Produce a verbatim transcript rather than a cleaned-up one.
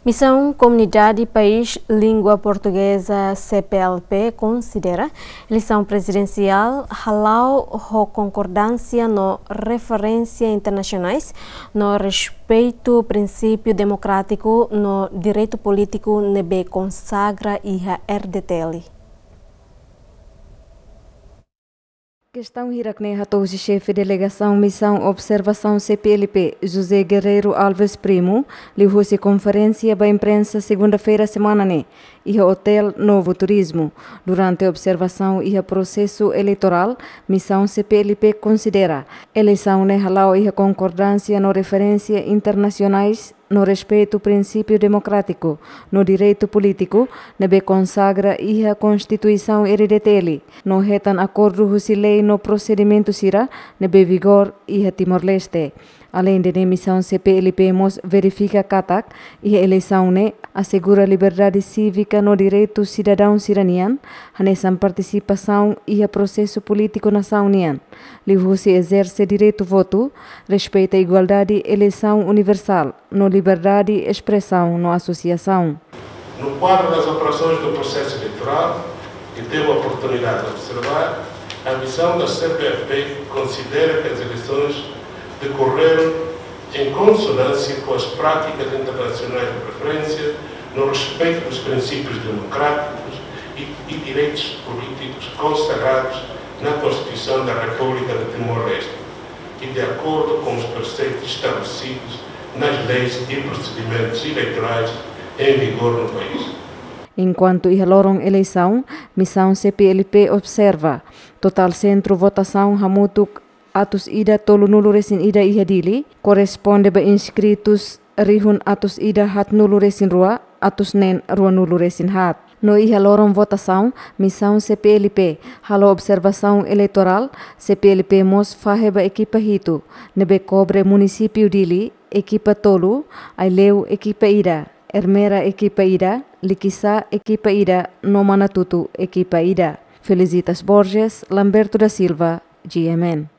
Misaun Komunidade País Língua Portugeza, C P L P, konsidera eleisaun prezidensiál hala'o ho konkordánsia no referénsia internasionais, no respeitu prinsípiu demokrátiku no direitu polítiku ne'ebé konsagra iha R D T L. Kestaun hirak-ne'e hato'o husi xefe delegasaun Misaun Observasaun C P L P, José Guerreiro Alves Primo, liuhusi konferénsia ba imprensa segunda-feira semana ne'e, iha Hotel Novo Turismo. Durante observasaun iha prosesu eleitorál, Misaun C P L P konsidera eleisaun ne'e hala'o iha konkordánsia no referénsia internasionais, no respeitu prinsípiu demokrátiku no direitu polítiku ne'ebé konsagra iha Konstituisaun R D T L, no hetan akordu husi lei no prosedimentu sira ne'ebé vigor iha Timor-Leste. Aleinde ne'e, Misaun C P L P mós verifika katak iha eleisaun ne'e asegura liberdade sívika no direitu sidadaun sira-nian, hanesan partisipasaun iha prosesu polítiku nasaun nian, liuhusi ezerse direitu votu, respeita igualdade eleisaun universál, no liberdade espresaun no asosiasaun. No quadro das operações do processo eleitoral, que teve a oportunidade de observar, a missão da C P L P considera que as eleições decorreram em consonância com as práticas internacionais de preferência, no respeito dos princípios democráticos e, e direitos políticos consagrados na Constituição da República de Timor-Leste e de acordo com os preceitos estabelecidos nas leis e procedimentos eleitorais em vigor no país. Enkuantu iha loron eleisaun, Misaun C P L P observa totál sentru votasaun hamutuk atus ida tolunulu-resin-ida iha Dili, korresponde ba inskritus rihun atus ida haatnulu-resin-rua, atus neen ruanulu-resin-haat. No iha loron votasaun, Misaun C P L P halo observasaun eleitorál, C P L P mós fahe ba ekipa hitu, ne'ebé kobre munisípiu Dili, ekipa tolu, Aileu, ekipa ida, Ermera, ekipa ida, Likisá, ekipa ida, no Manatuto, ekipa ida. Felicitas Borges, Lamberto da Silva, G M N.